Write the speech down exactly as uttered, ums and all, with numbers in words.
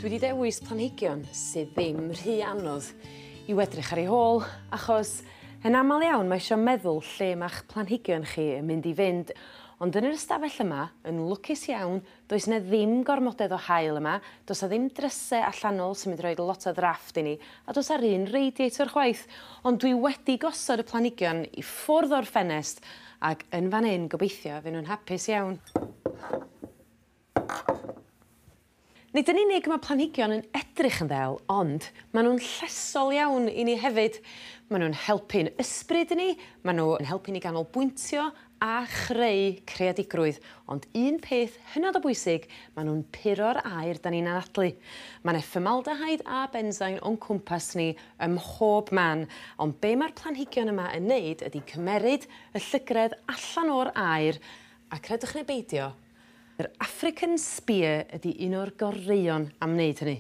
Dwi wedi dewis planhigion sydd ddim rhy anodd i'w edrych ar eu hôl, achos yn aml iawn mae isio meddwl lle ma'ch planhigion chi yn mynd i fynd, ond yn yr ystafell yma, yn lwcus iawn, does 'na ddim gormodedd o haul yma, does 'na ddim dryse allanol sy'n mynd i roid lot o ddrafft i ni, a does 'a'r un radiator chwaith, ond dwi wedi gosod y planhigion i ffwrdd o'r ffenest ac yn fan 'yn gobeithio fy' nw'n hapus iawn. Nid yn unig ma' planhigion yn edrych yn ddel, ond ma' nw'n llesol iawn i ni hefyd. Ma' nw'n helpu'n ysbryd ni, ma' n'w yn helpu ni ganolbwyntio a chreu creadigrwydd, ond un peth hynod o bwysig, ma' nw'n puro'r aer 'dan ni'n anadlu. Ma' 'ne fformaldehyde a benzoin o'n cwmpas ni ym mhob man, ond be' ma'r planhigion yma yn neud ydi cymeryd y llygredd allan o'r aer, a credwch neu beidio, yr African spear ydi un o'r goreuon am wneud hynny.